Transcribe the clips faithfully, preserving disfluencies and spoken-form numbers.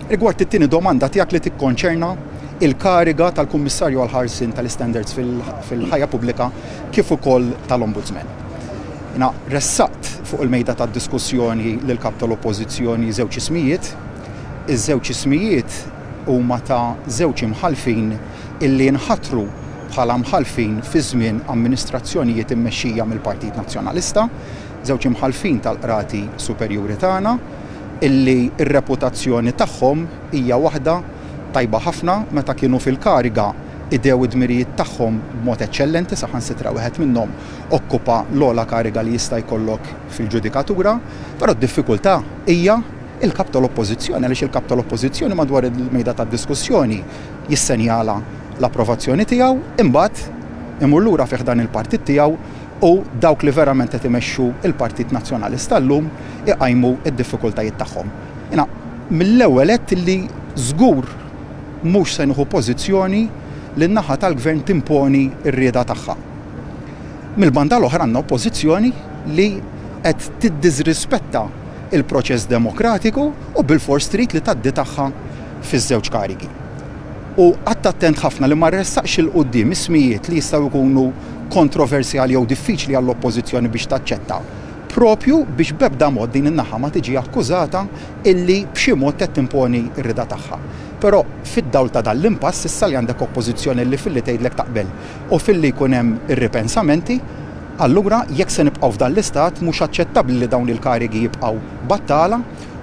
Rigward it-tieni domanda tiegħek li tikkonċerna il-kariga tal-Kummissarju għall-Ħarsien tal-Istandards fil-ħajja pubblika kif ukoll tal-Ombudsman. Jiena ressaqt fuq il-mejda tad-diskussjoni lil kap tal-Oppożizzjoni żewġ ismijiet. Iż-żewġ ismijiet huma ta' żewġ imħallfin illi nħatru bħala mħallfin fi żmien amministrazzjonijiet immexxija mill-Partit Nazzjonalista, żewġ imħallfin tal-qrati superjuri tagħna illi r-reputazzjoni tagħhom hija waħda tajba ħafna. Meta kienu fil-kariga qdew id-dmirijiet tagħhom b'mod eċċellenti, saħansitra wieħed minnhom okkupa l-ogħla kariga li jista' jkollok fil-ġudikatura, però d-diffikultà hija il-kap tal-Oppożizzjoni, għaliex il-kap tal-Oppożizzjoni madwar il-mejda tad-diskussjoni jissenjala l-approvazzjoni tiegħu, imbagħad imur lura fih dan il-partit tiegħu u dawk li verament qed imexxu il-Partit Nazzjonalista llum iqajmu d-diffikultajiet tagħhom. Jiena mill-ewwel għedt li żgur mhux se nieħu pożizzjoni li n-naħa tal-gvern timponi r-rieda tagħha. Mill-banda l-oħra għandna oppożizzjoni li qed tiddisrispetta il-proċess demokratiku u bil-fors trid li tgħaddi tagħha fiż-żewġ karigi. U qgħadt attent ħafna li ma ressaqx 'il quddiem ismijiet li jistgħu jkunu kontroversjali jew diffiċli għall-oppożizzjoni biex taċċetta, propju biex b'ebda mod din in-naħa ma tiġi akkużata illi b'xi mod qed timponi r-rida tagħha. Però fid-dawl ta' dan l-impass issa li għandek oppożizzjoni li filli tgħidlek taqbel u filli jkun hemm irripensamenti, allura jekk se nibqgħu f'dan l-istat mhux aċċettabbli li dawn il-karigi jibqgħu battala,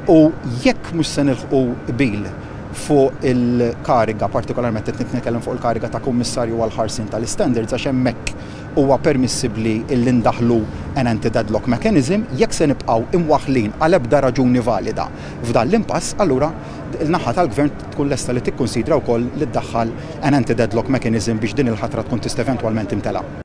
u jekk mhux se nilħqu qbil fuq il-kariga, partikolarment qed nitkellem fuq il-kariga ta' Kummissarju għall-Ħarsien tal-Istandards, għax hemmhekk huwa permissibbli illi ndaħlu an anti-deadlock mechanism, jekk se nibqgħu imwaħlin għal ebda raġuni valida f'dan l-impass, allura il-naħa tal-gvern tkun lesta li tikkonsidra wkoll li ddaħħal an anti-deadlock mechanism biex din il-ħatra tkun tista' eventwalment timtela.